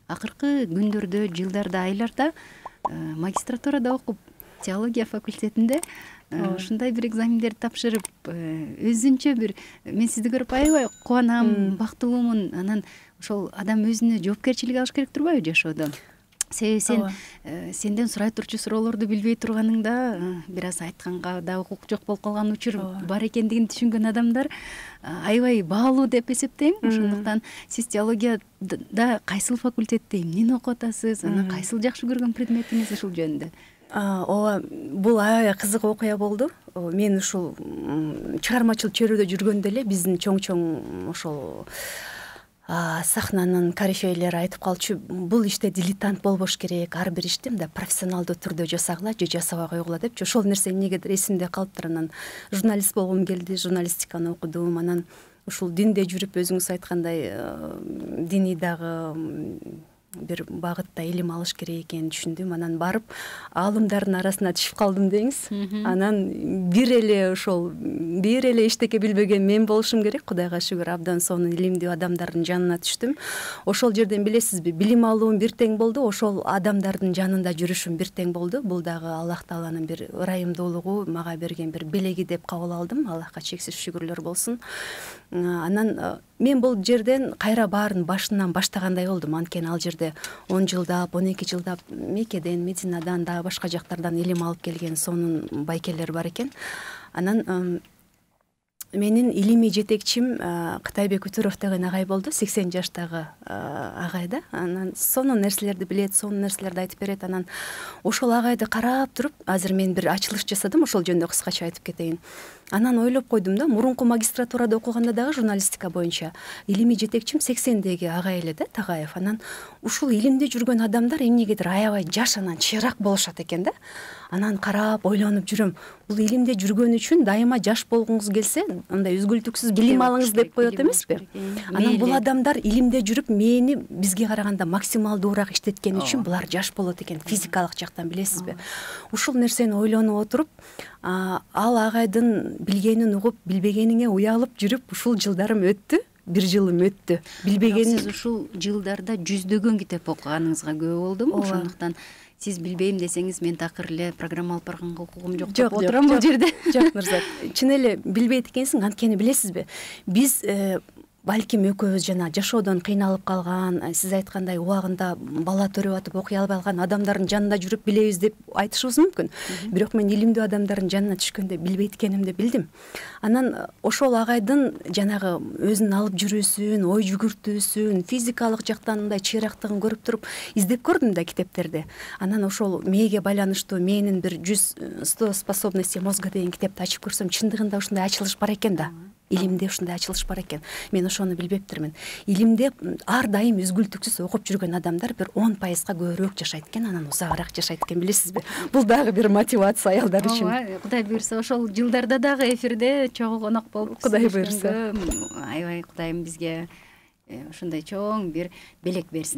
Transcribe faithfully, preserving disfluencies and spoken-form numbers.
акыркы күндөрдө, жылдарда, айларда магистратурада окуп, теология факультетинде ушундай бир экзамендерди тапшырып, өзүнчө бир мен сизди көрүп аябай кубанам, бактылуумун. Анан ошол адам өзүнө жоопкерчилик алыш керек турбайбы жашоодо? Себеби сен сенден сурай турчу суроолорду билбей турганыңда, бир аз айтканга да укук жок болуп калган учур бар экендигин түшүнгөн адамдар аябай баалуу деп эсептейм. Ошондуктан сиз теологияда кайсыл факультетте эмнени окуп атасыз, анан кайсыл жакшы көргөн предметиңиз ушул жөнүндө? Ооба, бул аябай кызык окуя болду. Мен ушул чыгармачыл чөйрөдө жүргөндө эле биздин чоң-чоң ошол сахнанын корифейлери айтып калчу, бул иште дилетант болбош керек, ар бир ишти мындай профессионалдуу түрдө жасагыла же жасабай койгула депчи. Ошол нерсе эмнегедир эсимде калыптыр. Анан журналист болгум келди, журналистиканы окудум. Анан ушул динде жүрүп, өзүңүз айткандай, диний дагы бир багытта илим алыш керек экенин түшүндүм. Анан барып, аалымдардын арасына түшүп калдым деңиз. Анан бир эле ошол бир эле эчтеке билбеген мен болушум керек. Кудайга шүгүр, абдан сонун илимдүү адамдардын жанына түштүм. Ошол жерден билесизби, билим алуум бир тең болду, ошол адамдардын жанында жүрүшүм бир тең болду. Бул дагы Аллах Тааланын бир ырайымдуулугу, мага берген бир белеги деп кабыл алдым. Аллахка чексиз шүгүрлөр болсун. Анан мен бул жерден кайра баарын башынан баштагандай болдум. Анткени ал жерде он жылдап, он эки жылдап мекеден, медицинадан, дагы башка жактардан илим алып келген сонун байкелер бар экен. Анан менин илимий жетекчим Кытайбек Үтүров деген агай болду, сексен жаштагы агай да. Анан сонун нерселерди билет, сонун нерселерди айтып берет. Анан ошол агайды карап туруп, азыр мен бир ачылыш жасадым, ошол жөнүндө кыскача айтып кетейин. Анан ойлоп койдум да, мурунку магистратурада окуганда дагы журналистика боюнча илимий жетекчим сексендеги агай эле да, Тагаев. Анан ушул илимде жүргөн адамдар эмнегедир аябай жаш, анан чыйраак болушат экен да. Анан карап ойлонуп жүрөм. Бул илимде жүргөн үчүн дайыма жаш болгуңуз келсе, андай үзгүлтүксүз билим алыңыз деп коет эмеспи? Анан бул адамдар илимде жүрүп, мээни бизге караганда максималдуураак иштеткени үчүн булар жаш болот экен, физикалык жактан, билесизби? Ушул нерсени ойлонуп отуруп, ал агайдын билгенин угуп, билбегениңе уялып жүрүп, ушул жылдарым өттү. Бир жылым өттү. Билбеген сиз ушул жылдарда жүздөгөн китеп окуганыңызга күбө болдум. Ошондуктан сиз билбейм десеңиз, мен такыр эле программа алып барганга укугум жок деп отурам бул жерде. Жок, Нурзат. Чын эле билбейт экенсиң, анткени билесизби? Биз балким экөөбүз жана жашоодон кыйналып калган, сиз айткандай убагында бала төрөп атып окуй албай калган адамдардын жанында жүрүп билебиз деп айтышыбыз мүмкүн. Бирок мен илимдүү адамдардын жанына түшкөндө билбейт экенимди билдим. Анан ошол агайдын жанагы өзүн алып жүрүүсүн, ой жүгүртүүсүн, физикалык жактан мындай чыйраактыгын көрүп туруп издеп көрдүм да китептерди. Анан ошол мээге байланыштуу менин бир жүз сто способности мозга деген китепти ачып көрсөм, чындыгында ушундай ачылыш бар экен да. Илимде ушундай ачылыш бар экен. Мен ошону билбептирмин. Илимде ар дайым үзгүлтүксүз окуп жүргөн адамдар бир он пайызга көбүрөөк жашайт экен, анан узагыраак жашайт экен, билесизби? Бул дагы бир мотивация аялдар үчүн. Ооба, Кудай буйрса ошол жылдарда дагы эфирде чогуу конок болуп, Кудай буйрса. Аябай Кудайым бизге ушундай чоң бир белек берсин.